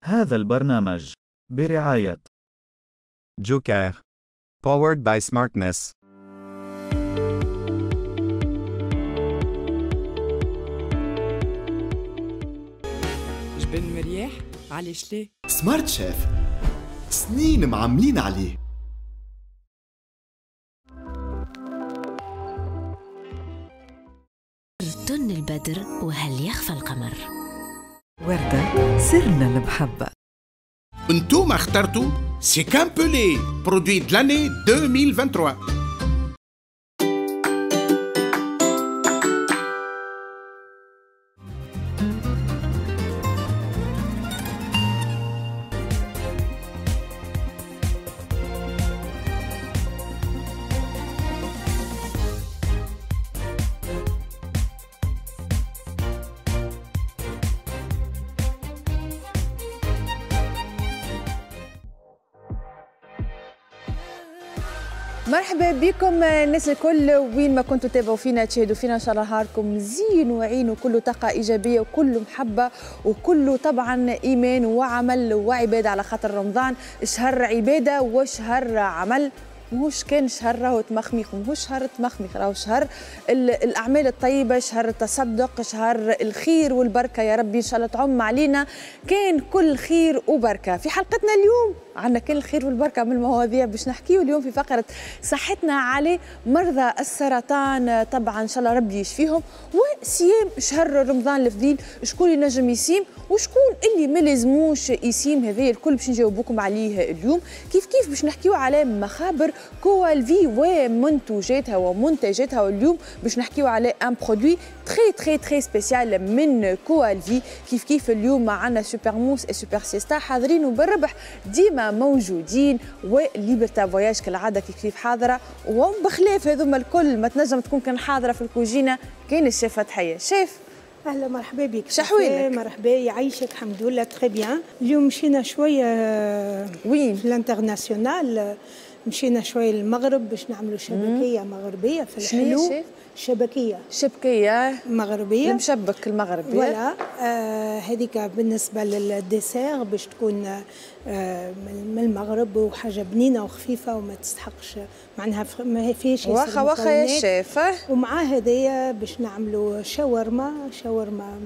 هذا البرنامج برعاية Joker. Powered by Smartness. جبن مرياح علاش ليه؟ Smart Chef سنين معملين عليه. تن البدر وهل يخفى القمر. وردة سرنا المحبة. انتوما اخترتوا سيكام بولي produit de l'année 2023. مرحبا بكم الناس الكل وين ما كنتوا تتابعوا فينا تشاهدوا فينا، ان شاء الله نهاركم زين وعين وكله طاقة ايجابية وكله محبة وكله طبعا ايمان وعمل وعباده، على خاطر رمضان شهر عباده وشهر عمل، ماهوش كان شهر راهو تمخميخ، ماهوش شهر تمخميخ، راهو شهر الاعمال الطيبة، شهر التصدق، شهر الخير والبركة. يا ربي ان شاء الله تعم علينا كان كل خير وبركة. في حلقتنا اليوم عندنا كل الخير والبركة من المواضيع باش نحكيو اليوم في فقره صحتنا على مرضى السرطان، طبعا ان شاء الله ربي يشفيهم، وصيام شهر رمضان الفضيل، شكون اللي نجم يصيم وشكون اللي ما لازموش يصيم، هذا الكل باش نجاوبوكم عليه اليوم. كيف كيف باش نحكيو على مخابر كوالفي ومنتوجاتها ومنتجاتها، واليوم باش نحكيو على un produit très très très spécial من كوالفي. كيف كيف اليوم معنا Super Mousse et Super Siesta حاضرين وبالربح ديما موجودين، و Liberta Voyages كالعادة كيف كيف حاضره، وبخلاف هذوما الكل ما تنجم تكون كان حاضره في الكوجينه كاين الشيف فتحيه. شيف اهلا مرحبا بك، شحويلك؟ مرحبا يعيشك، الحمد لله très bien. اليوم مشينا شوية وين؟ في ال international، مشينا شوية للمغرب باش نعملوا شبكيه مغربية في الحلو. شبكيه شبكيه مغربية، المشبك المغربي voilà. هذيك بالنسبة لل dessert باش تكون من المغرب وحاجه بنينه وخفيفة وما تستحقش معناها ما فيهش واخا واخا يا شيف. ومع هذايا باش نعملوا شاورما، شاورما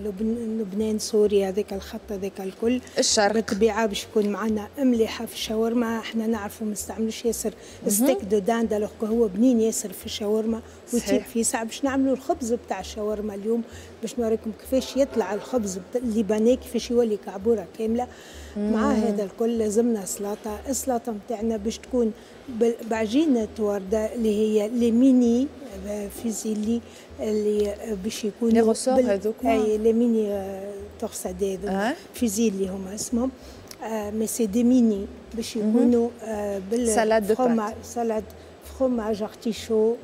من لبنان سوريا هذاك الخط هذاك الكل الشرق بالطبيعة باش يكون معنا مليحة في الشاورما. احنا نعرفوا ما نستعملوش ياسر steak de dinde alors هو بنين ياسر في الشاورما ويطيب فيه ساعة. باش نعملوا الخبز بتاع الشاورما اليوم باش نوريكم كيفاش يطلع الخبز اللبناني كيفاش يولي كعبوره كاملة. مع هذا الكل لازمنا سلطة، السلطة نتاعنا باش تكون بعجينه ورده اللي هي les mini fusilli اللي باش يكونوا les ressorts هذوك، اي les mini torsades fusilli هما اسمهم، mais c'est des mini باش يكونوا بال salade de pâtes، salade fromage artichaut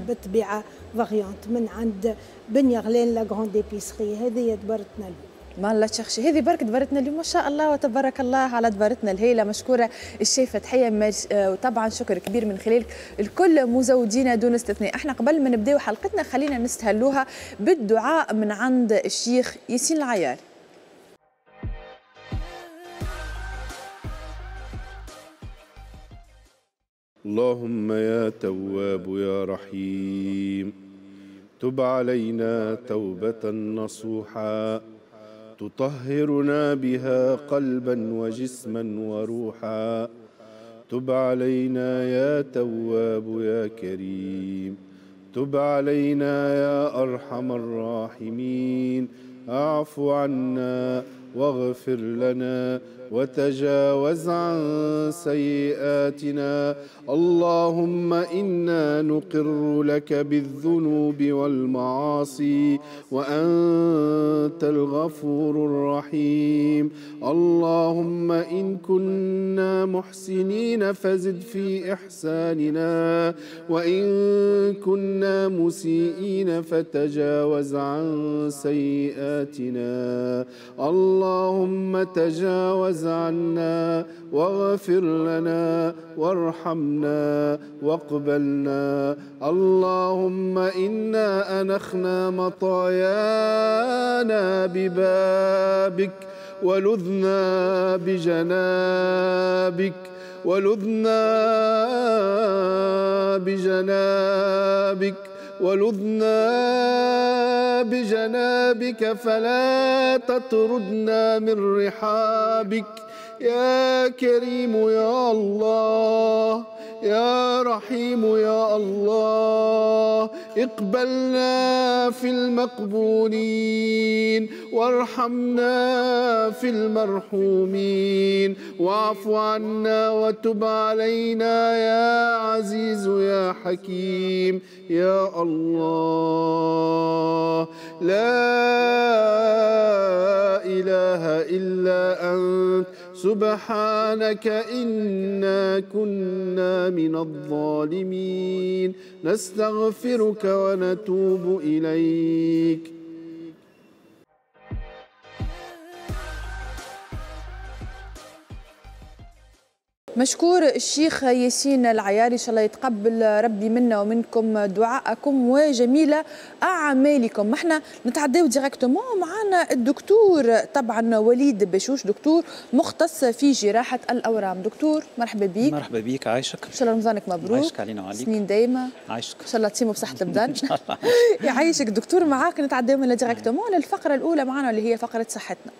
بالطبيعة variante من عند بن يغلان la grande épicerie. هذه دبرتنا اليوم، ما الله تشخشي، هذه برك دبرتنا اليوم ما شاء الله وتبارك الله على دبرتنا الهيله. مشكورة الشيف فتحيه، وطبعا شكر كبير من خلالك الكل مزودين دون استثناء. احنا قبل ما نبداو حلقتنا خلينا نستهلوها بالدعاء من عند الشيخ ياسين العيار. اللهم يا تواب يا رحيم تب علينا توبة نصوحا تطهرنا بها قلبا وجسما وروحا، تب علينا يا تواب يا كريم، تب علينا يا أرحم الراحمين، اعف عنا واغفر لنا وتجاوز عن سيئاتنا. اللهم إنا نقر لك بالذنوب والمعاصي وأنت الغفور الرحيم. اللهم إن كنا محسنين فزد في إحساننا، وإن كنا مسيئين فتجاوز عن سيئاتنا. اللهم تجاوز عنا واغفر لنا وارحمنا واقبلنا. اللهم إنا أنخنا مطايانا ببابك ولذنا بجنابك، ولذنا بجنابك، ولذنا بجنابك، فلا تطردنا من رحابك. يا كريم يا الله، يا رحيم يا الله، اقبلنا في المقبولين، وارحمنا في المرحومين، واعف عنا وتب علينا يا عزيز يا حكيم يا الله. لا إله إلا أنت، سبحانك إنا كنا من الظالمين، نستغفرك ونتوب إليك. مشكور الشيخ ياسين العياري، ان شاء الله يتقبل ربي منا ومنكم دعاءكم وجميل اعمالكم. احنا نتعداو directement معنا الدكتور طبعا وليد بشوش، دكتور مختص في جراحه الاورام. دكتور مرحبا بك. مرحبا بك، عايشك. ان شاء الله رمضانك مبروك. عايشك علينا وعليك. سنين دايمه. عايشك. ان شاء الله تصيموا بصحة البدن. ان شاء الله. يعيشك دكتور. معاك نتعداو من directement للفقرة الاولى معنا اللي هي فقره صحتنا.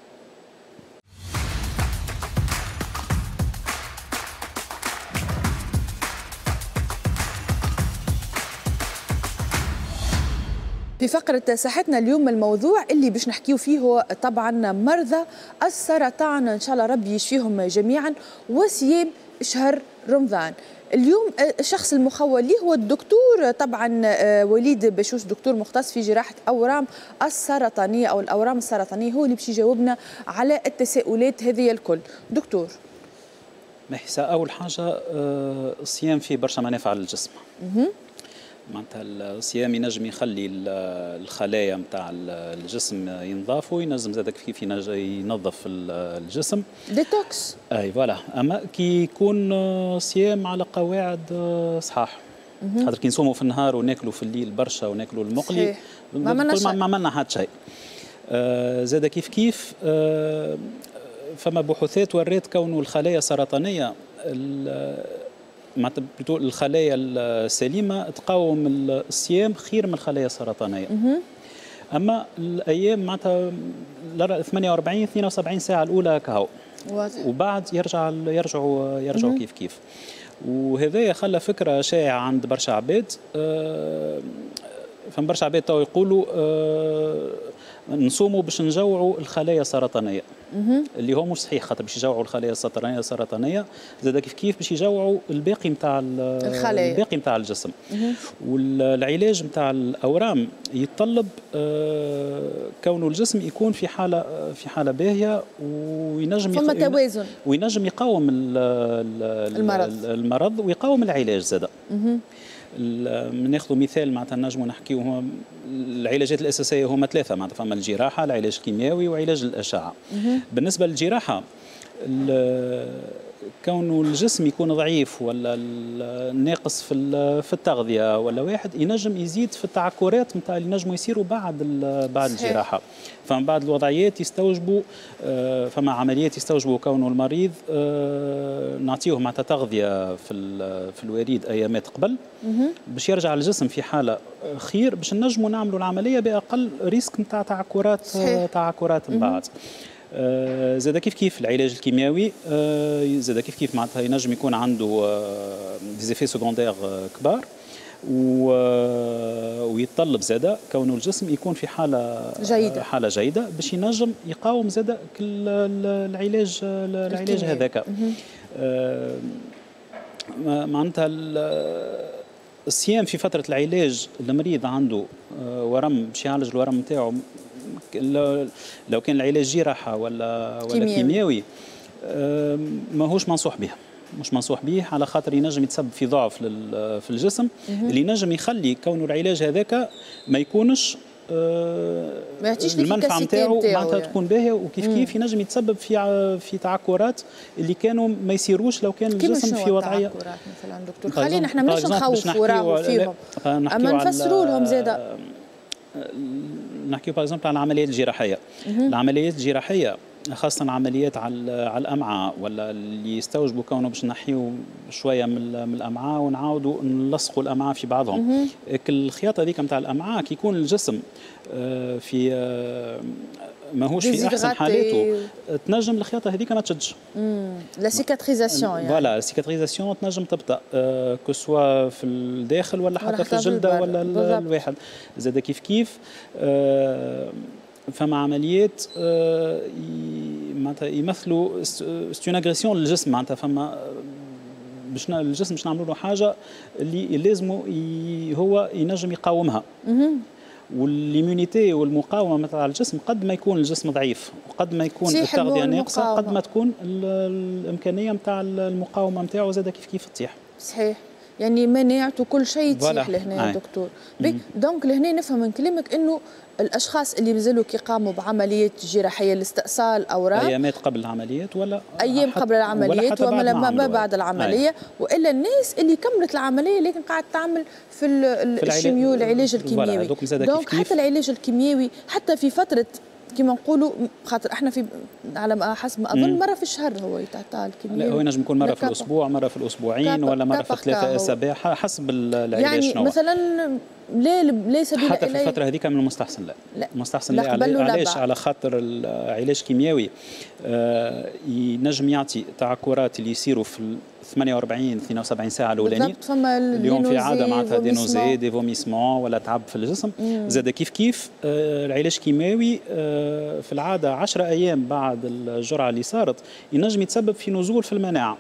في فقرة صحتنا اليوم الموضوع اللي باش نحكيو فيه هو طبعا مرضى السرطان، إن شاء الله ربي يشفيهم جميعا، وصيام شهر رمضان. اليوم الشخص المخول ليه هو الدكتور طبعا وليد بشوش، دكتور مختص في جراحة أورام السرطانية أو الأورام السرطانية، هو اللي باش يجاوبنا على التساؤلات هذه الكل. دكتور محسا، أول حاجة الصيام فيه برشا منافع للجسم. معناتها الصيام ينجم يخلي الخلايا نتاع الجسم ينضافوا، ينجم زاد كيف ينظف الجسم، détox. اي voilà. اما كي يكون صيام على قواعد صحاح، خاطر كي نصوموا في النهار وناكلوا في الليل برشا وناكلوا المقلي ما عملنا حتى شيء. زاد كيف كيف فما بحوثات ورات كونه الخلايا السرطانية، معناتها الخلايا السليمة تقاوم الصيام خير من الخلايا السرطانية. اما الايام معناتها 48 72 ساعة الاولى كهو، وبعد يرجعوا كيف كيف. وهذايا خلى فكرة شائعة عند برشا عباد. فما برشا عباد تو يقولوا نصوموا باش نجوعوا الخلايا السرطانية، اللي هو مش صحيح، خاطر باش يجوعوا الخلايا السرطانية زاد كيف كيف باش يجوعوا الباقي نتاع الخلايا، الباقي نتاع الجسم. والعلاج نتاع الاورام يتطلب كونه الجسم يكون في حاله باهيه، وينجم فما توازن، وينجم يقاوم المرض ويقاوم العلاج زاد. ناخذ مثال معناتها نجموا نحكيو العلاجات الاساسية هما ثلاثة، معناتها فما الجراحة، العلاج الكيميائي، وعلاج الاشعة. بالنسبة للجراحه، كونه الجسم يكون ضعيف ولا ناقص في التغذية ولا واحد، ينجم يزيد في التعكرات نتاع اللي نجموا يصيروا بعد الجراحة. فما بعض الوضعيات يستوجبوا، فما عمليات يستوجبوا كونه المريض نعطيه معناتها تغذية في الوريد ايامات قبل باش يرجع الجسم في حاله خير، باش نجموا نعملوا العملية باقل risque نتاع تعكرات من بعد. زاد كيف كيف العلاج الكيميائي، زاد كيف كيف معناتها ينجم يكون عنده des effets secondaires كبار، ويتطلب زاد كونه الجسم يكون في حاله جيدة، حاله جيدة باش ينجم يقاوم زاد كل العلاج هذاك. معناتها الصيام في فترة العلاج، المريض عنده ورم باش يعالج الورم نتاعو، لو كان العلاج جراحه ولا كيميائي ماهوش منصوح به، مش منصوح به، على خاطر ينجم يتسبب في ضعف في الجسم اللي ينجم يخلي كونه العلاج هذاك ما يكونش ما يعطيش المنفعة نتاعو معناتها تكون باهيه، وكيف كيف ينجم يتسبب في تعكرات اللي كانوا ما يصيروش لو كان الجسم في وضعية. تعكرات مثلا دكتور، خلينا احنا مش نخوفوا راهو فيهم، اما نفسروا لهم زاده. نحكيو par exemple على العمليات الجراحية. العمليات الجراحية خاصة عمليات على الامعاء ولا اللي يستوجبوا كونه باش نحيو شوية من الامعاء ونعاودوا نلصقوا الامعاء في بعضهم. الخياطة هذيك نتاع الامعاء كي يكون الجسم في ماهوش في احسن حالاته، تنجم الخياطة هذيك ما تشدش. la cicatrisation يعني. voilà، cicatrisation تنجم تبطا que ce soit في الداخل ولا حتى في الجلدة ولا الواحد زاد كيف كيف. فما عمليات معناتها يمثلوا c'est une agression للجسم، معناتها فما باش الجسم باش نعملوا له حاجة اللي لازمه هو ينجم يقاومها. وال immunité والمقاومة نتاع الجسم، قد ما يكون الجسم ضعيف وقد ما يكون التغذية ناقصه، قد ما تكون الامكانية نتاع المقاومة نتاعو زاد كيف كيف تطيح. صحيح، يعني مناعته كل شيء تطيح لهنا يا دكتور. donc لهنا نفهم من كلامك انه الاشخاص اللي مازالوا كي قاموا بعمليات جراحية لاستئصال اورام، ايامات قبل العمليات ولا ايام قبل العمليات وما ما بعد العملية، والا الناس اللي كملت العملية لكن قاعد تعمل في ال chimio، العلاج الكيميائي. donc حتى العلاج الكيميائي حتى في فترة كما نقولوا، خاطر احنا في على ما حسب ما اظن مرة في الشهر هو يتعطى الكيميائي. لا، هو ينجم يكون مرة في الاسبوع، مرة في الاسبوعين، ولا مرة في 3 اسابيع حسب العلاج. يعني شنو مثلا لا لا سبيل حتى في الفترة هذيك من المستحسن لا، لا المستحسن لا. علاش؟ على خاطر العلاج الكيميائي ينجم يعطي تعكرات اللي يصيروا في 48 72 ساعة الاولانيين. بالضبط، فما اليوم في عادة معناتها des nausées، des vomissements ولا تعب في الجسم. زاد كيف كيف العلاج الكيماوي في العادة 10 ايام بعد الجرعة اللي صارت ينجم يتسبب في نزول في المناعه،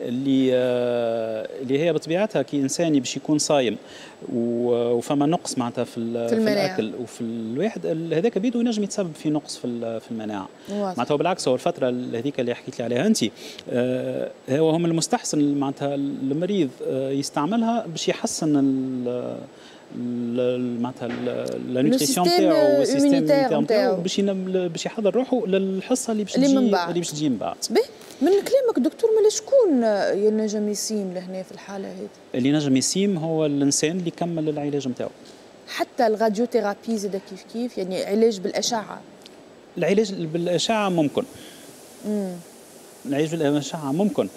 اللي هي بطبيعتها كي انسان باش يكون صايم وفما نقص معناتها في الاكل وفي الواحد هذاك بيدو ينجم يتسبب في نقص في المناعه. معناتها بالعكس، هو الفترة هذيك اللي حكيت لي عليها انت هو هم المستحسن معناتها المريض يستعملها باش يحسن معناتها la nutrition تاعو وال système نتاعو باش يحضر روحه للحصه اللي باش تجي من بعد. من كلامك دكتور، ما شكون ينجم يصيم لهنا في الحالة هذه؟ اللي نجم يصيم هو الانسان اللي كمل العلاج نتاعو. حتى ال radiothérapie زاد كيف كيف، يعني علاج بالاشعه؟ العلاج بالاشعه ممكن. العلاج بالاشعه ممكن،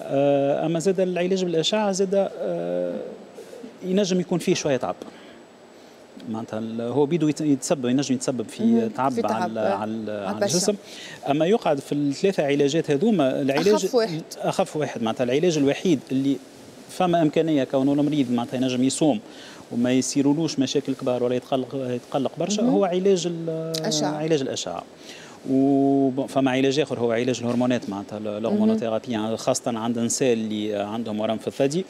اما زاد العلاج بالاشعه زاد ينجم يكون فيه شوية تعب، معناتها هو بيدو يتسبب ينجم يتسبب في تعب، في تعب على الجسم. اما يقعد في الثلاثة علاجات هذوما العلاج اخف واحد. اخف واحد، معناتها العلاج الوحيد اللي فما امكانية كونه المريض معناتها ينجم يصوم وما يصيرولوش مشاكل كبار ولا يتقلق برشا هو علاج الأشعة. علاج الاشعه. وفما علاج اخر هو علاج الهرمونات، معناتها l'hormonothérapie، يعني خاصة عند النساء اللي عندهم ورم في الثدي،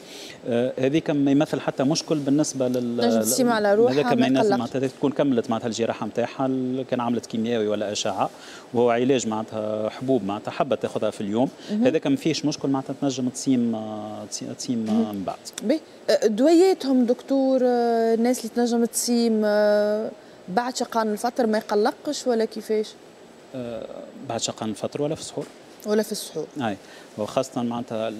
هذيك ما يمثل حتى مشكل بالنسبة لل تنجم تصيم على روحها. هذاك ما يمثل، معناتها تكون كملت معناتها الجراحة نتاعها، كان عملت كيميائي ولا اشعه، وهو علاج معناتها حبوب، معناتها حبه تاخذها في اليوم، هذاك ما فيش مشكل، معناتها تنجم تصيم من بعد. باهي، دوياتهم دكتور، الناس اللي تنجم تصيم بعد شقان الفطر ما يقلقش ولا كيفاش؟ بعد شقان الفطر ولا في السحور. ولا في السحور. اي، وخاصة معناتها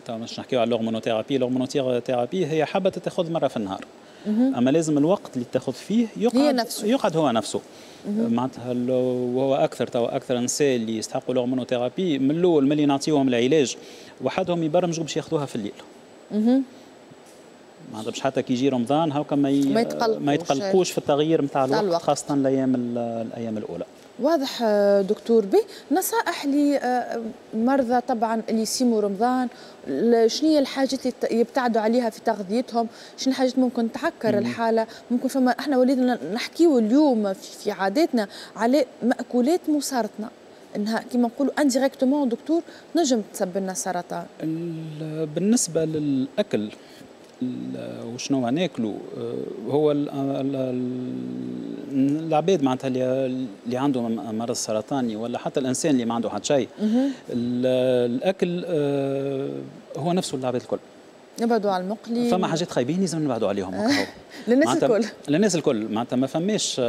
تو باش نحكيو على l'hormonothérapie، l'hormonothérapie هي حبه تاخذ مرة في النهار، اما لازم الوقت اللي تاخذ فيه يقعد هي نفسه. يقعد هو نفسه معناتها. وهو اكثر تو اكثر النساء اللي يستحقوا l'hormonothérapie من الاول ملي نعطيوهم العلاج وحدهم يبرمجوا باش ياخذوها في الليل، معناتها باش حتى كي يجي رمضان هاكا ما يتقلقوش في التغيير نتاع الوقت، خاصة الايام الاولى. واضح دكتور. به نصائح لمرضى طبعا اللي يصيموا رمضان، شنو هي الحاجات اللي يبتعدوا عليها في تغذيتهم؟ شنو الحاجات ممكن تعكر الحاله؟ ممكن فما احنا ولينا نحكيو اليوم في عاداتنا على مأكولات مسرطنه، انها كما نقولوا indirectement دكتور نجم تسبب لنا سرطان. بالنسبة للاكل وشنو ناكلوا، هو العباد معناتها اللي عنده مرض سرطاني ولا حتى الانسان اللي ما عنده حتى شيء، الاكل هو نفسه العباد الكل. نبعدوا على المقلي. فما حاجات خايبين لازم نبعدوا عليهم. للناس الكل. للناس الكل، معناتها ما فماش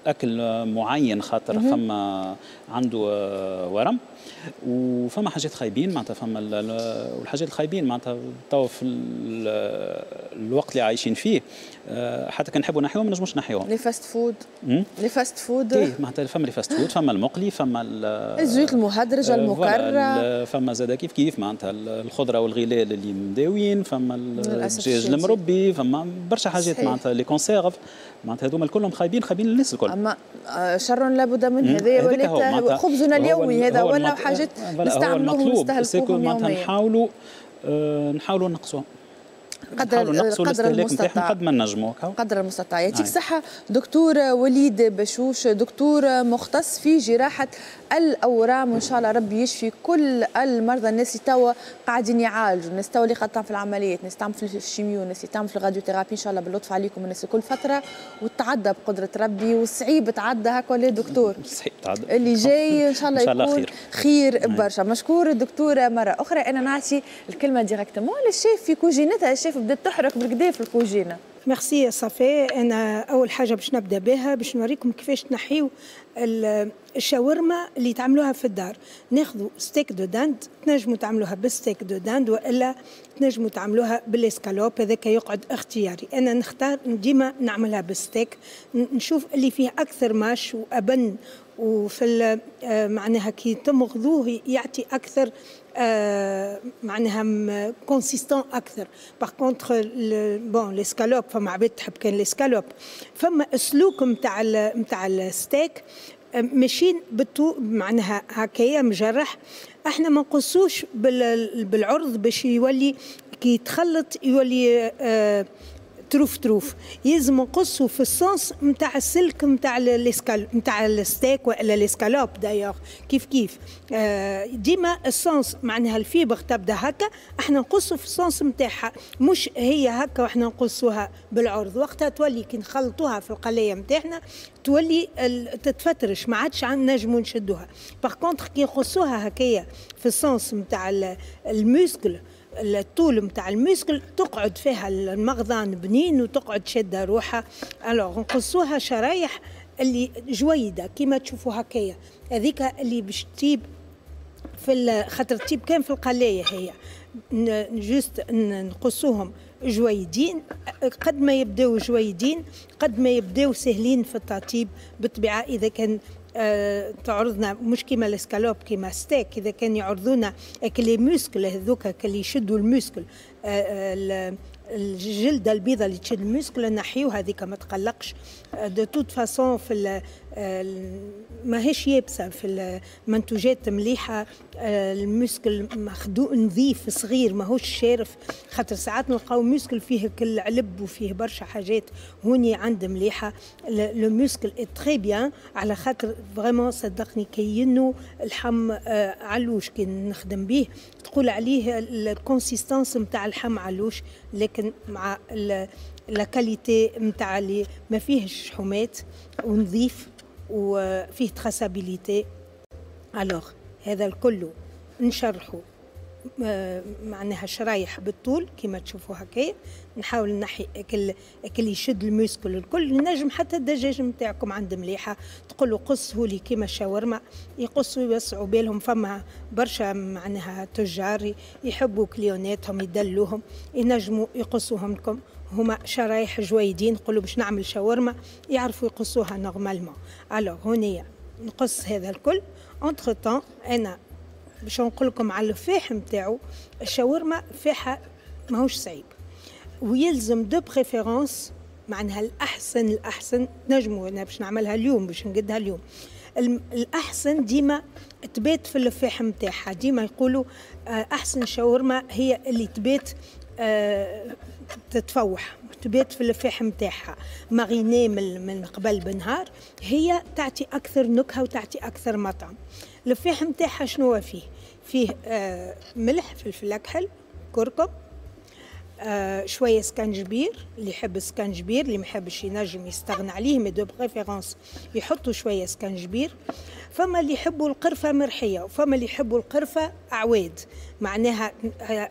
اكل معين خاطر فما عنده ورم. وفما حاجات خايبين معناتها، فما والحاجات الخايبين معناتها تو في الوقت اللي عايشين فيه حتى كان نحبوا نحيوهم ما نجموش نحيوهم. les fast-food، les fast-food ايه معناتها فما les fast-food، فما المقلي، فما الزيوت المهدرجه المكرره، فما زاد كيف كيف معناتها الخضرة والغلال اللي مداوين، فما الدجاج المربي، فما برشا حاجات معناتها les conserves معناتها هذوما الكلهم خايبين خايبين للناس الكل. اما شر لابد منه، هذا ولات خبزنا اليومي هذا ولا حاجات نستعملوهم ونستهلكوهم معناتها نحاولوا نقصوهم، قدر المستطاع، قد ما نجموا قدر المستطاع. يعطيك الصحة دكتور وليد بشوش، دكتور مختص في جراحة الأورام، وإن شاء الله ربي يشفي كل المرضى، الناس اللي توا قاعدين يعالجوا، الناس توا اللي قاعدة في العمليات، الناس تعمل في ال chimio، الناس اللي تعمل في ال radiothérapie، إن شاء الله باللطف عليكم الناس كل فترة وتعدى بقدرة ربي، وصعيب تعدى هكا ولا دكتور؟ صعيب تعدى، اللي جاي إن شاء الله يكون خير برشا. مشكور الدكتور مرة أخرى. أنا نعطي الكلمة directement للشيف في كوجينتها، الشيف بدات تحرك بالكدا في الكوجينه. ميرسي يا صفاء. انا اول حاجة باش نبدا بها باش نوريكم كيفاش تنحيو الشاورما اللي تعملوها في الدار. ناخذوا steak de dinde، تنجموا تعملوها بال steak de dinde والا تنجموا تعملوها بالاسكالوب، هذاك يقعد اختياري. انا نختار ديما نعملها بالستيك، نشوف اللي فيه اكثر mâche وابن، وفي معناها كي تمغذوه يعطي اكثر معناها consistant اكثر. par contre bon l'escalope فما عباد تحب كان الاسكالوب، فما اسلوك نتاع الستيك ماشيين بالطو معناها هكايا مجرح، احنا ما نقصوش بالعرض باش يولي كي يتخلط يولي طروف طروف، يلزم نقصوا في ال sens نتاع السلك نتاع نتاع الستيك والا الاسكالوب d'ailleurs كيف كيف. ديما ال sens معناها ال fibre تبدا هكا، احنا نقصوا في ال sens نتاعها، مش هي هكا واحنا نقصوها بالعرض. وقتها تولي كي نخلطوها في القلايه نتاعنا تولي تتفترش، ما عادش نجموا نشدوها. par contre كي نقصوها هكايا في ال sens نتاع ال muscle، الطول نتاع ال muscle، تقعد فيها المغضان بنين وتقعد شاده روحها. alors نقصوها شرايح اللي جويده كيما تشوفوا هكايا، هذيك اللي باش تطيب في خاطر تطيب كان في القلايه، هي juste نقصوهم جويدين، قد ما يبداو جويدين قد ما يبداو سهلين في التطيب. بالطبيعة اذا كان تعرضنا مش كيما الاسكالوب كيما ستيك، اذا كان يعرضونا les muscles هذوك اللي يشدوا ال muscle، الجلدة البيضاء اللي تشد ال muscle نحيوها هذيك ما تقلقش. de toute façon في ماهيش يابسة في المنتوجات مليحة، ال muscle مخدوق نظيف صغير ماهوش شارف، خاطر ساعات نلقاو muscle فيه كل علب وفيه برشا حاجات. هوني عند مليحة le muscle est très bien، على خاطر vraiment صدقني كينو اللحم علوش كي نخدم به تقول عليه ال consistance نتاع اللحم علوش، لكن مع la qualité نتاع اللي ما فيهش شحومات ونظيف وفيه traçabilité. alors هذا الكل نشرحه معناها شرايح بالطول كما تشوفوا هكايا، نحاول نحي كل يشد ال muscle الكل. نجم حتى الدجاج نتاعكم عند مليحة تقولوا قصة لي كيما الشاورما، يقصوا يوسعوا بالهم. فما برشا معناها تجار يحبوا كليوناتهم يدلوهم، ينجموا يقصوهم لكم هما شرايح جويدين، نقولوا باش نعمل شاورما يعرفوا يقصوها normalement. alors هونيا نقص هذا الكل. entre-temps انا باش نقول لكم على الفاح نتاعو، الشاورما فاحها ماهوش صعيب، ويلزم de préférence معناها الاحسن الاحسن نجمو انا باش نعملها اليوم باش نقدها اليوم، الاحسن ديما تبات في الفاح نتاعها. ديما يقولوا احسن شاورما هي اللي تبات تتفوح، تبات في الفاح نتاعها marinée من قبل بنهار، هي تعطي اكثر نكهة وتعطي اكثر مطعم. الفاح نتاعها شنو فيه؟ فيه ملح، فلفل اكحل، كركم، شوية سكنجبير، اللي يحب سكنجبير، اللي ما يحبش ينجم يستغنى عليه، mais de préférence يحطوا شوية سكنجبير. فما اللي يحبوا القرفه مرحيه وفما اللي يحبوا القرفه اعواد، معناها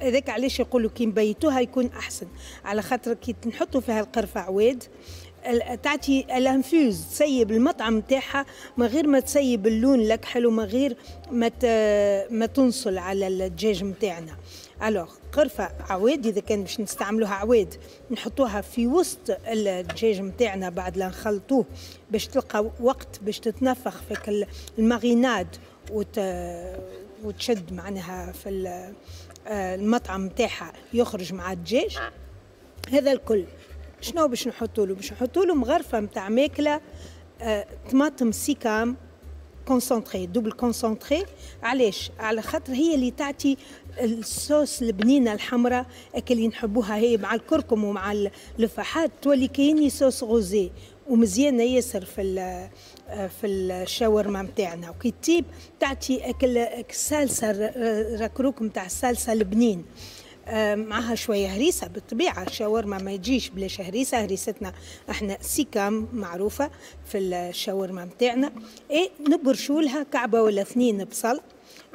هذاك علاش يقولوا كي نبيتوها يكون احسن، على خاطر كي نحطوا فيها القرفه عواد تعطي ال infuse، تسيب المطعم نتاعها من غير ما تسيب اللون الاكحل ومن غير ما تنصل على الدجاج نتاعنا. alors قرفه عواد اذا كان باش نستعملوها عواد نحطوها في وسط الدجاج نتاعنا بعد لا نخلطوه باش تلقى وقت باش تتنفخ في ال marinade وتشد معناها في المطعم نتاعها يخرج مع الدجاج. هذا الكل شنو باش نحطوا له؟ باش نحطوا له مغرفه نتاع ماكله طماطم سيكام concentrée، double concentrée. علاش؟ على خاطر هي اللي تعطي الصوص البنينه الحمراء اللي نحبوها، هي مع الكركم ومع الفحات تولي كايني sauce rosée ومزيانه ياسر في الشاورما نتاعنا. وكي تطيب تعطي اكل الصلصه ركروك نتاع الصلصه البنين، معها شوية هريسه. بالطبيعة الشاورما ما يجيش بلاش هريسه، هريستنا احنا سيكام معروفة في الشاورما نتاعنا. اي نبرشوا لها كعبه ولا اثنين بصل،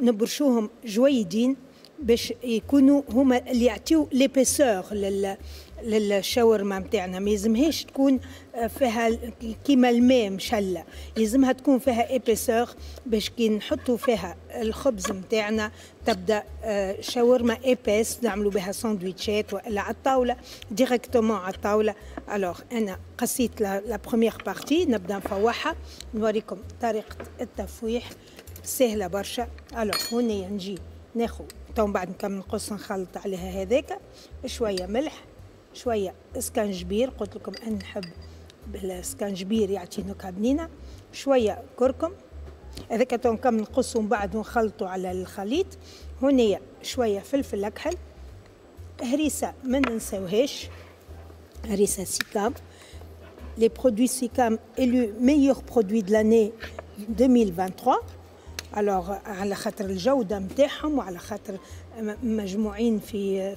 نبرشوهم جويدين باش يكونوا هما اللي يعطيو l'épaisseur للشاورما نتاعنا. ما يلزمهاش تكون فيها كيما الماء مشله، يلزمها تكون فيها épaisseur باش كي نحطوا فيها الخبز نتاعنا تبدا شاورما épaisse، نعملوا بها ساندويتشات والا على الطاولة directement على الطاولة. alors انا قصيت la première partie، نبدا نفوحها، نوريكم طريقه التفويح سهلة برشا. alors هنا نجي ناخذ تو بعد نكمل نقص نخلط عليها هذاك شوية ملح، شوية اسكنجبير، قلت لكم انا نحب بالسكنجبير يعطي نكهة بنينه، شوية كركم هذاك تو نكمل نقصو من بعد ونخلطو على الخليط. هنا شوية فلفل اكحل، هريسه ما ننساوهاش، هريسه سيكام. les produits سيكام élus meilleur produit de l'année 2023. alors على خاطر الجودة نتاعهم وعلى خاطر مجموعين في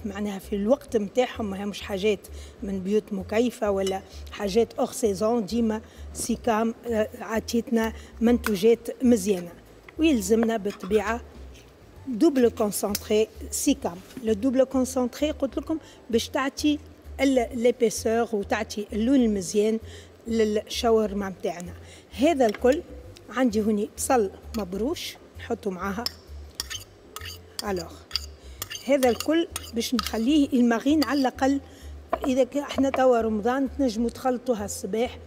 معناها في الوقت نتاعهم، ما همش حاجات من بيوت مكيفه ولا حاجات hors saison. ديما سيكام عطيتنا منتوجات مزيانه. ويلزمنا بالطبيعة double concentré سيكام. le double concentré قلت لكم باش تعطي l'épaisseur وتعطي اللون المزيان للشاورما نتاعنا. هذا الكل عندي هوني بصل مبروش نحطه معاها. alors هذا الكل باش نخليه ال marine على الاقل، اذا احنا توا رمضان تنجموا تخلطوها الصباح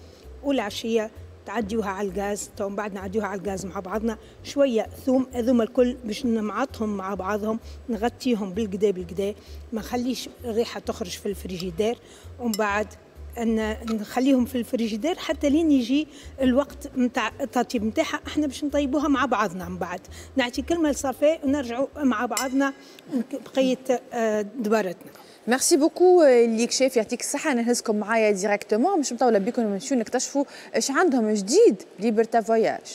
والعشيه تعديوها على الغاز، تو من بعد نعديوها على الغاز مع بعضنا. شوية ثوم، هذوما الكل باش نمعطهم مع بعضهم، نغطيهم بالقدا بالقدا، ما نخليش الريحة تخرج في الفريجيدير، ومن بعد ان نخليهم في الفريجيدير حتى لين يجي الوقت نتاع التطيب نتاعها. احنا باش نطيبوها مع بعضنا من بعد. نعطي كلمة لصفاء ونرجعوا مع بعضنا بقية دبارتنا. merci beaucoup ليك شيف، يعطيك الصحة. نهزكم معايا directement مش مطولة بكم، نمشيو نكتشفوا اش عندهم جديد Liberta Voyages.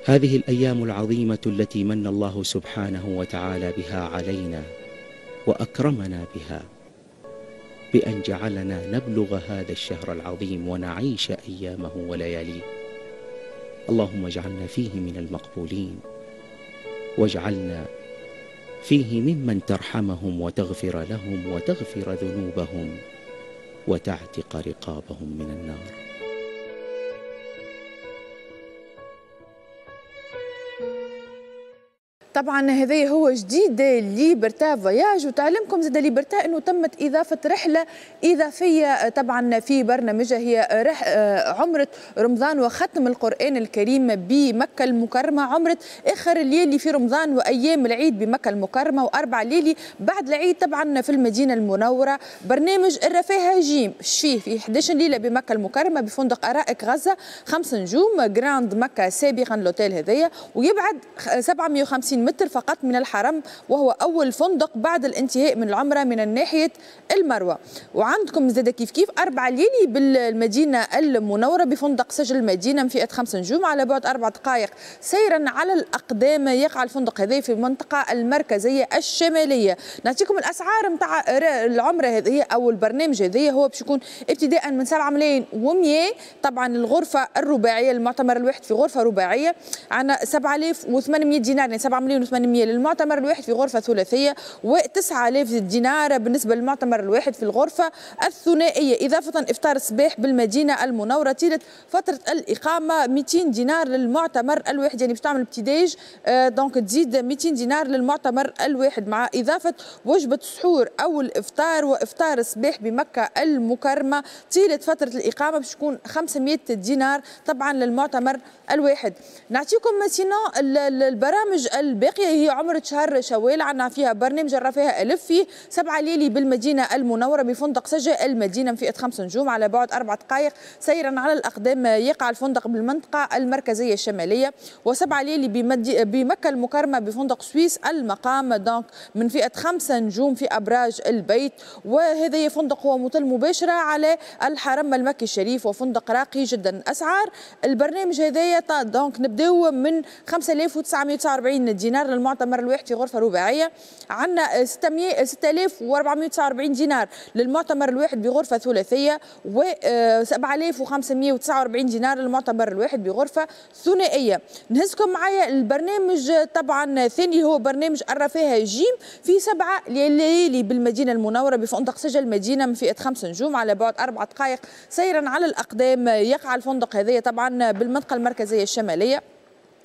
هذه الايام العظيمة التي من الله سبحانه وتعالى بها علينا واكرمنا بها بأن جعلنا نبلغ هذا الشهر العظيم ونعيش أيامه ولياليه. اللهم اجعلنا فيه من المقبولين، واجعلنا فيه ممن ترحمهم وتغفر لهم وتغفر ذنوبهم وتعتق رقابهم من النار. طبعا هذا هو جديد Liberta Voyages، وتعلمكم زاد Liberta انه تمت اضافه رحله اضافية طبعا في برنامجها، هي عمره رمضان وختم القران الكريم بمكة المكرمة، عمره اخر ليالي في رمضان وايام العيد بمكة المكرمة، واربع ليالي بعد العيد طبعا في المدينة المنورة. برنامج الرفاهه جيم فيه في 11 ليلة بمكة المكرمة بفندق ارائك غزة 5 نجوم Grand مكة سابقا l'hôtel هذايا، ويبعد 750 متر فقط من الحرم، وهو أول فندق بعد الانتهاء من العمرة من ناحية المروة. وعندكم زاد كيف كيف 4 ليالي بالمدينة المنورة بفندق سجل المدينة من فئة 5 نجوم على بعد 4 دقائق سيرا على الأقدام. يقع الفندق هذا في المنطقة المركزية الشمالية. نعطيكم الأسعار نتاع العمرة هذه أو البرنامج هذا، هو باش يكون ابتداء من 7,100,000 طبعا الغرفة الرباعية، المعتمر الواحد في غرفة رباعية عندنا 7800 دينار، يعني 7,800,000 ملايين و800 للمعتمر الواحد في غرفة ثلاثية، و9000 دينار بالنسبة للمعتمر الواحد في الغرفة الثنائية. اضافه افطار الصباح بالمدينة المنورة طيلة فترة الاقامة 200 دينار للمعتمر الواحد، يعني باش تعمل petit déj donc تزيد 200 دينار للمعتمر الواحد، مع اضافه وجبة السحور او الافطار وافطار الصباح بمكة المكرمة طيلة فترة الاقامة باش تكون 500 دينار طبعا للمعتمر الواحد. نعطيكم sinon البرامج الباقية، هي عمره شهر شوال، عندنا فيها برنامج الرفاهه الف فيه 7 ليالي بالمدينة المنورة بفندق سجا المدينة من فئة 5 نجوم على بعد 4 دقائق سيرا على الاقدام، يقع الفندق بالمنطقة المركزية الشمالية. و7 ليالي بمكة المكرمة بفندق سويس المقام donc من فئة 5 نجوم في ابراج البيت، وهذا فندق هو مطل مباشرة على الحرم المكي الشريف وفندق راقي جدا. اسعار البرنامج هذايا donc نبداو من 5949 دينار للمعتمر الواحد في غرفة رباعية، عندنا 6449 دينار للمعتمر الواحد بغرفه ثلاثية، و 7549 دينار للمعتمر الواحد بغرفه ثنائية. نهزكم معايا البرنامج طبعا الثاني هو برنامج الرفاهه جيم في 7 ليالي بالمدينة المنورة بفندق سجل المدينة من فئة 5 نجوم على بعد 4 دقائق سيرا على الاقدام، يقع الفندق هذايا طبعا بالمنطقة المركزية الشمالية.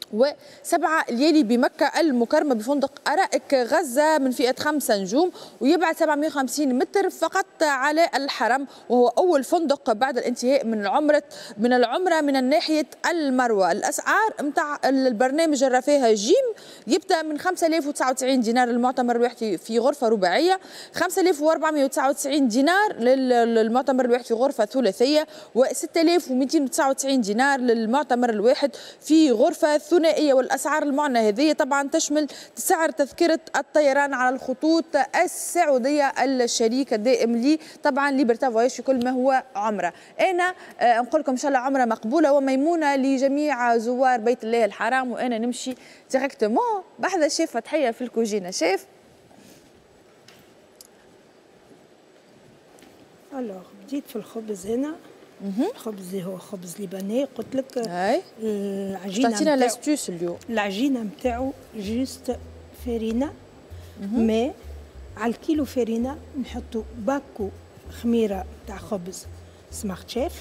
و7 ليالي بمكة المكرمة بفندق أرائك غزة من فئة 5 نجوم، ويبعد 750 متر فقط على الحرم، وهو أول فندق بعد الانتهاء من العمرة من ناحية المروة. الأسعار متاع البرنامج الرفاهة جيم يبدأ من 5099 دينار للمعتمر الواحد في غرفة رباعية، 5499 دينار للمعتمر الواحد في غرفة ثلاثية، و6299 دينار للمعتمر الواحد في غرفة ثنائية. والأسعار المعنى هذه طبعا تشمل سعر تذكرة الطيران على الخطوط السعودية الشريك الدائم لي طبعا ليبرتا فواياج في كل ما هو عمرة. أنا نقول لكم إن شاء الله عمرة مقبولة وميمونة لجميع زوار بيت الله الحرام. وأنا نمشي directement بحذا شيف فتحية في الكوجينة. chef alors بديت في الخبز هنا. الخبز اللي هو خبز libanais، قلت لك العجينة تعطينا l'astuce اليوم. العجينة نتاعو juste فرينه ماء، على الكيلو فرينه نحطوا باكو خميره تاع خبز سمارت شيف،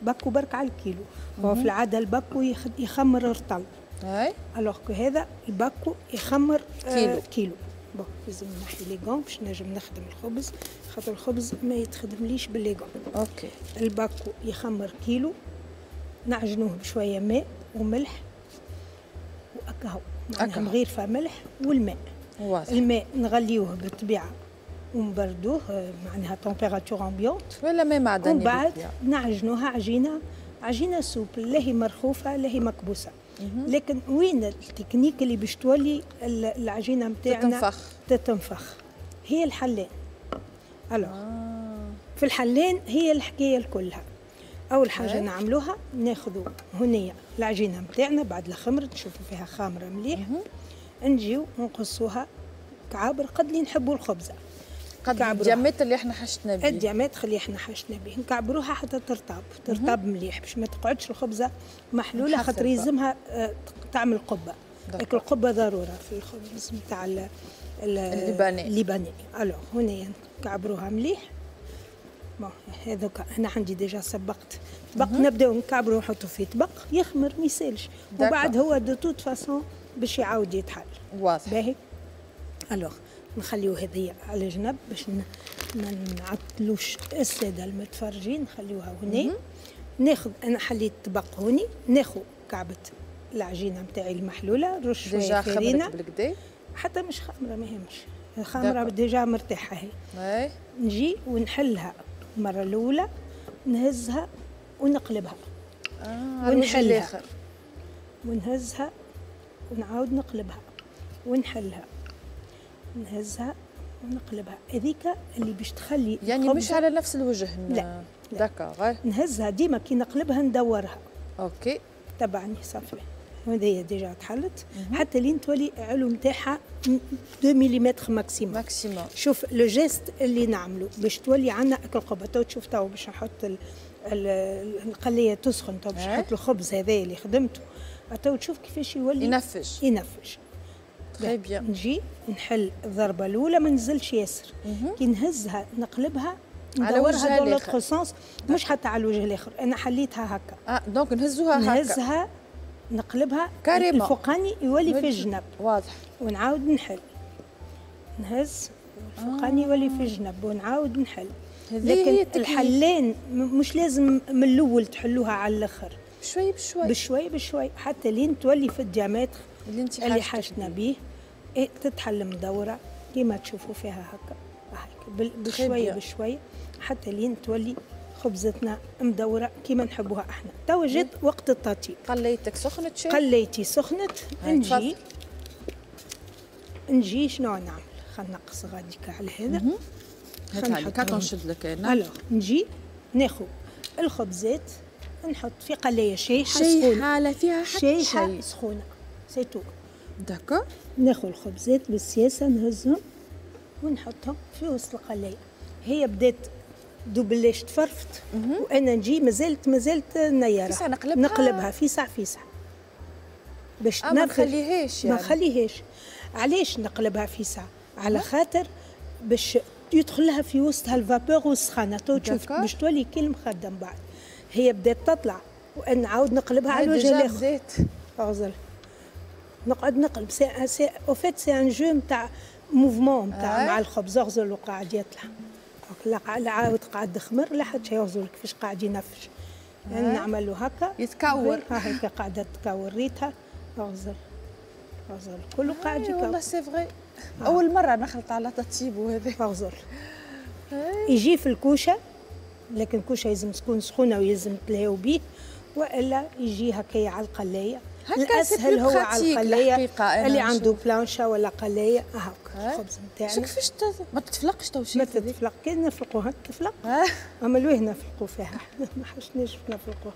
باكو برك على الكيلو. هو في العادة الباكو يخمر رطل، اي alors que هذا الباكو يخمر كيلو. bon لازم نحي les gants باش نجم نخدم الخبز، خاطر الخبز ما يتخدمليش ب les gants. OK الباكو يخمر كيلو، نعجنوه بشوية ماء وملح واكاهو، معناها مغيرفه ملح والماء. واضح. الماء نغليوه بالطبيعة ونبردوه، معناها température ambiante ولا ماء معدني. ومن بعد نعجنوها عجينه souple، لا هي مرخوفه لا هي مكبوسه. لكن وين التكنيك اللي باش تولي العجينة نتاعنا تتنفخ؟ هي الحلان. alors في الحلان هي الحكاية كلها. اول حاجة نعملوها ناخذوا هنيه العجينة نتاعنا بعد الخمر، نشوفوا فيها خامره مليح، نجيو نقصوها كعابر قد اللي نحبوا الخبزة، قد ال diamètre اللي احنا حشتنا به، ال diamètre اللي احنا حشتنا به نكعبروها حتى ترطب مليح باش ما تقعدش الخبزة محلولة، خاطر يلزمها تعمل قبه. لكن القبة ضرورة في الخبز نتاع ال libanais. alors هنا نكعبروها مليح. bon هذوك انا عندي déjà سبقت طبق، نبداو نكعبرو ونحطو في طبق يخمر ما يسالش، وبعد هو de toute façon باش يعاود يتحل. واضح. باهي. alors نخليو هذه على جنب باش ما نعطلوش السادة المتفرجين، نخليوها هنا. ناخذ انا حليت طبق هوني، ناخذ كعبه العجينة نتاعي المحلوله، نرش شوية فرينه حتى مش خامره، ما يهمش الخامره déjà مرتاحة هي. نجي ونحلها المرة الاولى، نهزها ونقلبها ونحلها ونهزها ونعاود نقلبها ونحلها، نهزها ونقلبها. هذيك اللي باش تخلي يعني مش على نفس الوجه. لا d'accord، نهزها ديما كي نقلبها ندورها. OK تبعني صافي. وهذه déjà تحلت حتى لين تولي علو نتاعها 2 ملم maximum. شوف le geste اللي نعملو باش تولي عندنا اكل قبه. تو تشوف تو باش نحط القليه تسخن، تو باش نحط الخبز هذا اللي خدمته، تو تشوف كيفاش يولي ينفش. très bien. نجي نحل الضربة الاولى ما نزلش ياسر، كي نهزها نقلبها ندورها dans l'autre sens، مش حتى على الوجه الاخر، انا حليتها هكا. donc نهزوها هكا، نهزها نقلبها carrément، الفوقاني يولي في الجنب. واضح. ونعاود نحل، نهز الفوقاني يولي في الجنب ونعاود نحل. لكن الحلين مش لازم من الاول تحلوها على الاخر، بشوي بشوي بشوي بشوي حتى لين تولي في ال diamètre اللي حاجتنا به. إيه تتحل مدورة كيما تشوفوا فيها هكا بشوي بشوي حتى لين تولي خبزتنا مدورة كيما نحبوها احنا. توا جات وقت التطيب. قليتك سخنت شيء؟ قليتي سخنت. نجي شنو نعمل؟ خلينا نقص غاديك على هذا. هات نشد لك انا. alors نجي ناخذ الخبزات نحط في قلايه شايحه سخونة، شايحه فيها حتى شايحه سخونة c'est tout. d'accord. ناخذ الخبزات بالسياسة نهزهم ونحطهم في وسط القلايه. هي بدات دوبلاش تفرفت وانا نجي مازالت نيره. فيسع نقلبها، نقلبها فيسع فيسع باش ما نخليهاش يعني. ما نخليهاش. علاش نقلبها فيسع؟ على خاطر باش يدخلها في وسطها ال vapeur والسخانه، تو تشوف باش تولي كي المخدة من بعد. هي بدات تطلع وانا نعاود نقلبها على الوجه الاخر. اغزل نقعد نقلب. c'est au fait c'est un jeu نتاع mouvement نتاع مع الخبز. اغزل وقاعد يطلع، لا عاود قاعد خمر لا حتى شيء. يغزل كيفاش قاعد ينفش. يعني نعملو هكا يتكور، هكا قاعدة تكور ريتها. اغزل اغزل كله قاعد يكور. والله c'est vrai اول مرة نخلط على تطيب وهذا. اغزل يجي في الكوشة، لكن الكوشة لازم تكون سخونة ويلزم تلهيو بيه، والا يجي هكايا على القلايه. الاسهل هو على القلايه، اللي عنده plancha ولا قلايه هاك الخبز نتاعنا. شو كيفاش ما تتفلقش تو؟ ما تتفلق كي نفلقوها تتفلق. اما لويه نفلقوا فيها ما حشناش نفلقوها.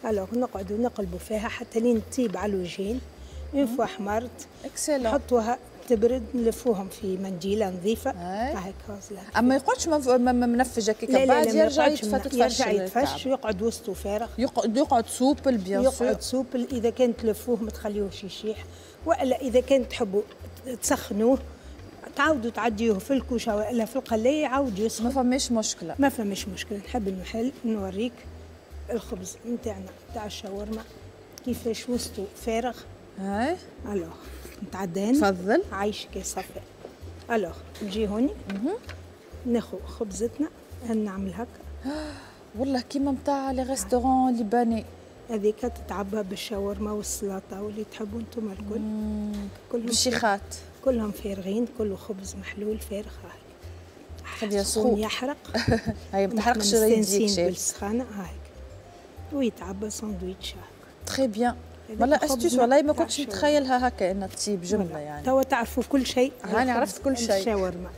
alors نقعدوا نقلبوا فيها حتى لين تطيب على الوجهين. une fois حمرت نحطوها تبرد، نلفوهم في منديله نظيفة هاك. اما يقعدش منفج هكاك بعد يرجع يتفتش، يرجع يتفش ويقعد وسطه فارغ، يقعد souple bien sûr، يقعد souple. اذا كان تلفوه ما تخليوهش يشيح، والا اذا كان تحبوا تسخنوه تعاودوا تعديوه في الكوشة والا في القلايه يعاود يسخن. ما فماش مشكلة، ما فماش مشكلة. نحب المحل نوريك الخبز نتاعنا تاع الشاورما كيفاش وسطه فارغ. هاي alors نتعدى. تفضل. عايشك يا صفاء. alors نجي هوني ناخذ خبزتنا نعمل هكا. والله كيما نتاع les restaurants libanais. هذيك تتعبى بالشاورما والسلطة واللي تحبوا انتم الكل. كلهم بالشيخات كلهم فارغين، كله خبز محلول فارغ. هاك سخون يحرق. هاي ما تحرقش يديك بالسخانه هاك ويتعبى ساندويتش هاك. très bien. والله astuce والله ما كنتش نتخيلها هكا انها تطيب جملة يعني. توا تعرفوا كل شيء. انا عرفت كل شيء. الشاورما.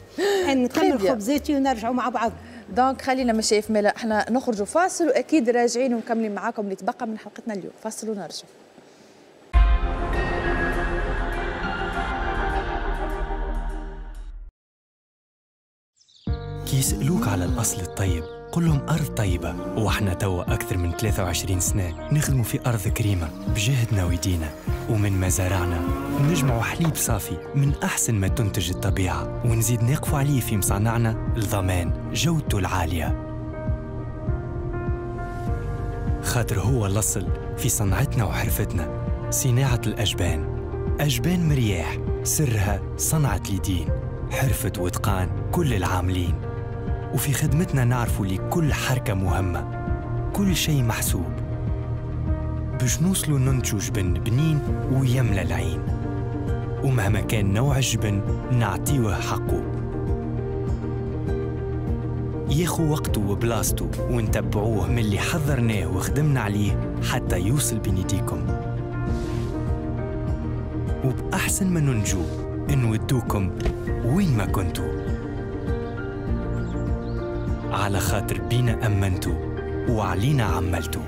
نكمل خبزاتي ونرجعوا مع بعض. donc خلينا مشايف مالا احنا نخرجوا فاصل واكيد راجعين ومكملين معاكم اللي تبقى من حلقتنا اليوم. فاصل ونرجع. كي يسألوك على الأصل الطيب قل لهم أرض طيبة، وإحنا توا أكثر من 23 سنة نخدموا في أرض كريمة بجهدنا ويدينا، ومن مزارعنا نجمعوا حليب صافي من أحسن ما تنتج الطبيعة، ونزيد نقفوا عليه في مصانعنا لضمان جودته العالية، خاطر هو الأصل في صنعتنا وحرفتنا. صناعة الأجبان، أجبان مرياح، سرها صنعة اليدين، حرفة وإتقان كل العاملين. وفي خدمتنا نعرفوا لكل حركة مهمة، كل شيء محسوب باش نوصلوا ننتجوا جبن بنين ويملى العين، ومهما كان نوع الجبن نعطيوه حقه، ياخو وقته وبلاصته، ونتبعوه من اللي حضرناه وخدمنا عليه حتى يوصل بين يديكم. وبأحسن ما ننجو نودوكم وين ما كنتوا، على خاطر بينا أمنتوا وعلينا عملتوا.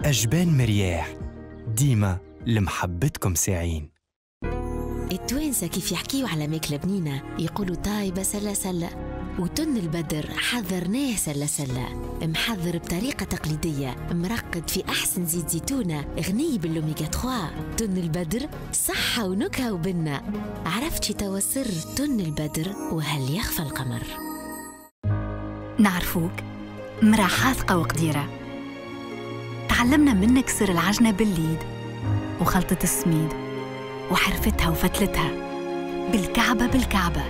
أجبان مرياح، ديما لمحبتكم ساعين. التوانسة كيف يحكيوا على ماكلة بنينة يقولوا طايبة سلة سلة، وتن البدر حضرناه سلة سلة، محضر بطريقة تقليدية، مرقد في أحسن زيت زيتونة، غني بالأوميغا 3. تن البدر صحة ونكهة وبنة. عرفتي توا سر تن البدر وهل يخفى القمر؟ نعرفوك مرا حاذقة وقديرة، تعلمنا منك سر العجنة بالليد وخلطة السميد وحرفتها وفتلتها بالكعبة بالكعبة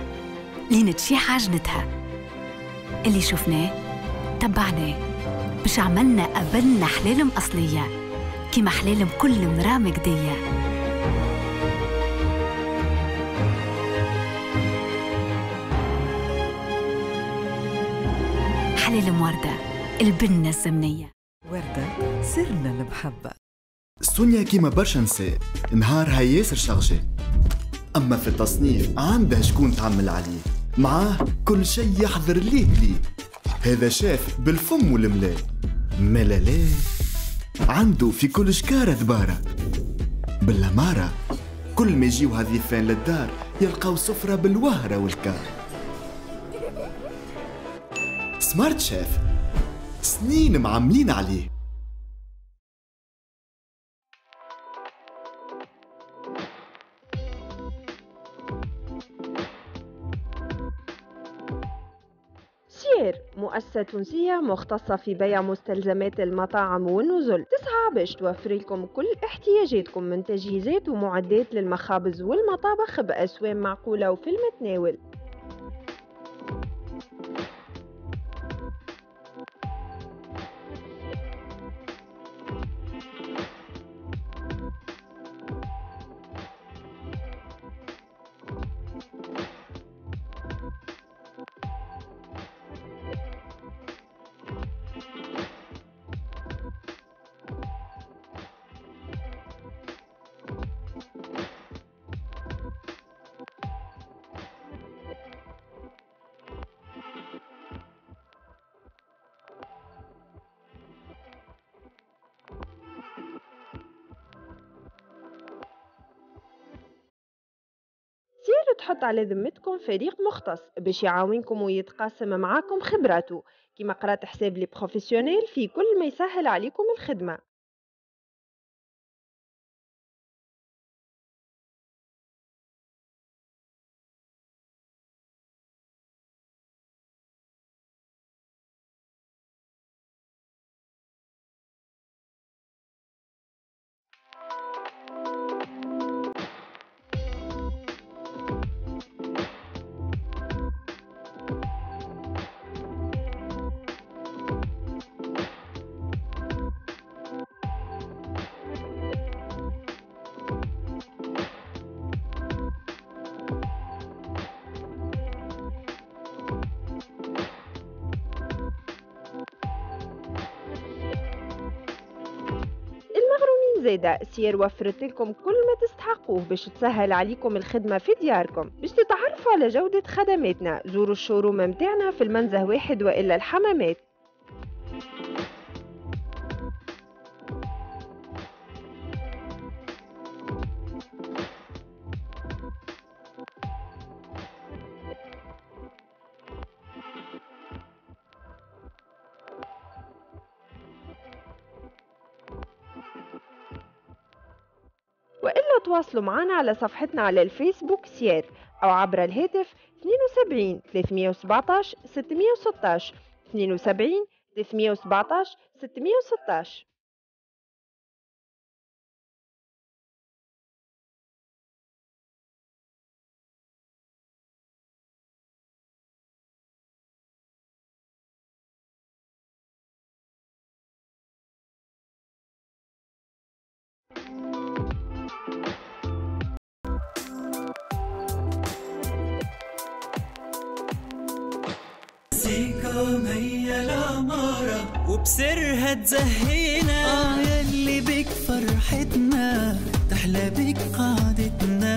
لين تشيح عجنتها. اللي شفناه تبعناه باش عملنا قبلنا حلالم أصلية كيما حلالم كل مرا مجدية. حلالم وردة، البنة الزمنية. وردة سرنا المحبة. سونيا كيما برشا نساء نهارها ياسر chargé، أما في التصنيف عندها شكون تعمل عليه، معاه كل شيء يحضر ليه ليه. هذا شاف بالفم والملا ملا لا، عنده في كل شكارة دبارة بالأمارة. كل ما يجيو هالضيفان للدار يلقاو سفرة بالوهرة والكار. Smart Chef سنين معملين عليه. سير مؤسسة تونسية مختصة في بيع مستلزمات المطاعم والنزل، تسعى باش توفر لكم كل احتياجاتكم من تجهيزات ومعدات للمخابز والمطابخ بأسوام معقولة وفي المتناول. تحط على ذمتكم فريق مختص باش يعاونكم ويتقاسم معاكم خبراته، كما قرات حساب les professionnels في كل ما يسهل عليكم الخدمة. زادة سير وفرت لكم كل ما تستحقوه باش تسهل عليكم الخدمة في دياركم. باش تتعرفوا على جودة خدماتنا زوروا ال showroom متاعنا في المنزه 1 وإلا الحمامات. وإلا تواصلوا معنا على صفحتنا على الفيسبوك سير أو عبر الهاتف 72 317 616 72 317 616. سيكم هي العمارة وبسرها تزهينا، يلي بك فرحتنا تحلى بك قعدتنا،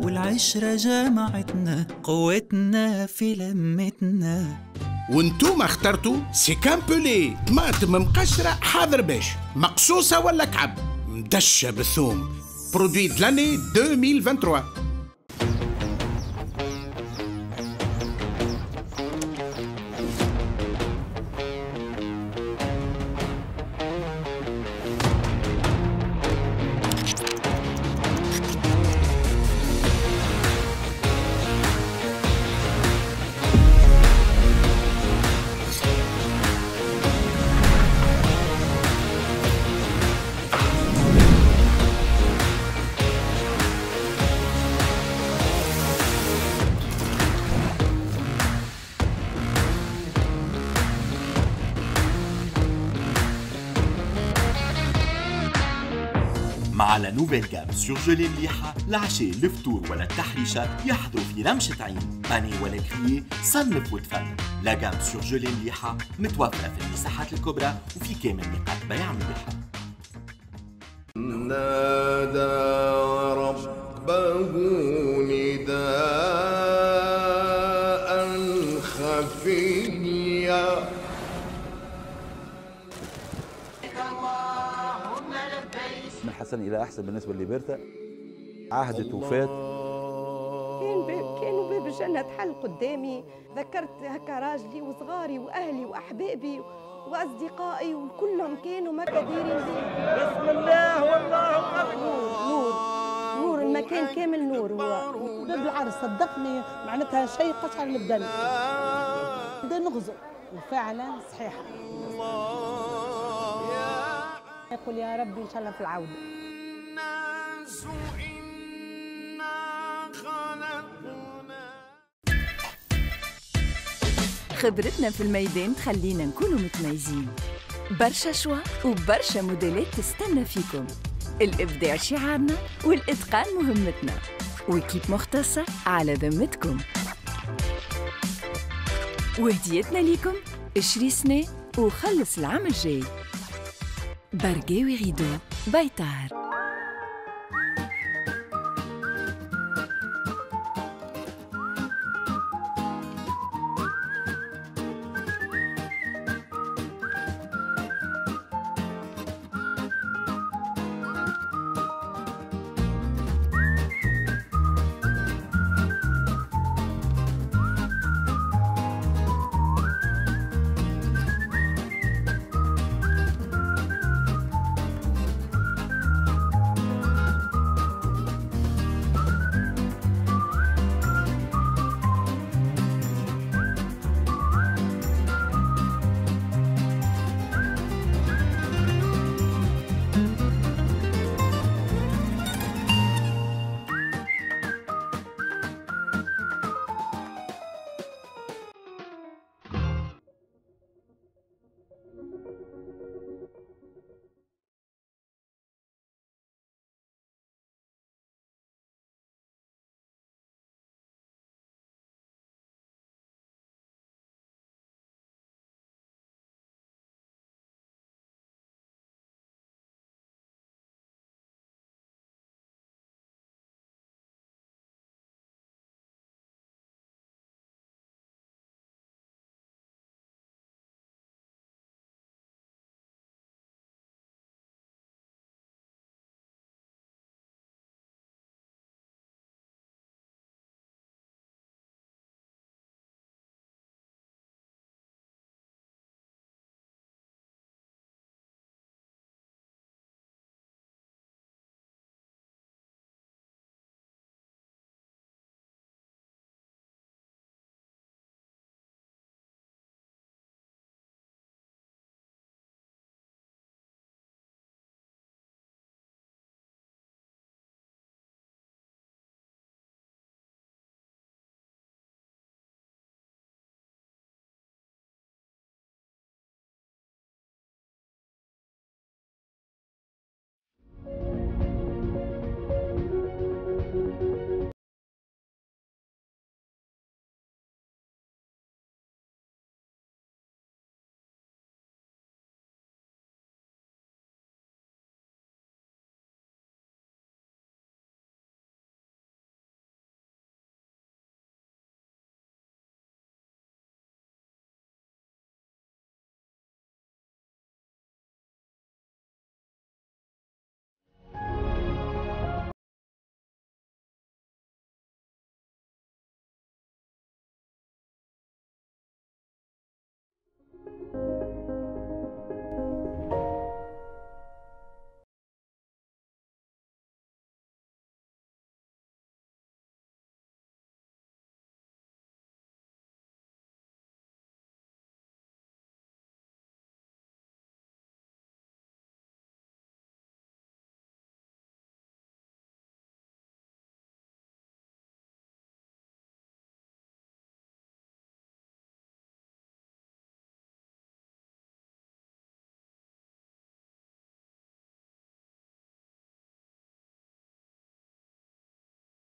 والعشرة جمعتنا قوتنا في لمتنا. وانتوما اخترتوا سيكامبولي طماطم مقشرة حاضر باش مقصوصة ولا كعب مدشة بالثوم، produit de l'année 2023. مع la nouvelle gamme surgelée مليحة، العشاء، الفطور ولا التحريشة يحضروا في رمشة عين، pané ولا grillé، صنف وتفنن. la gamme surgelée مليحة متوفرة في المساحات الكبرى وفي كامل نقاط بيع مليحة. نادى ربه نداء خفيا. من حسن إلى أحسن بالنسبة لليبرتا، عهدت وفات. كانوا باب الجنة تحل قدامي، ذكرت هكا راجلي وصغاري وأهلي وأحبابي وأصدقائي وكلهم كانوا ما كديرين بي. بسم الله والله أكبر. نور نور المكان كامل نور. هو باب العرس صدقني معناتها شيء قشعر البدن، بدا نغزو وفعلا صحيحة. يقول يا ربي إن شاء الله في العودة. خبرتنا في الميدان تخلينا نكونوا متميزين. برشا choix وبرشا موديلات تستنى فيكم. الإبداع شعارنا والإتقان مهمتنا، و équipe مختصة على ذمتكم. وهديتنا ليكم اشري سنة وخلص العام الجاي. برقاوي rideaux بيطار.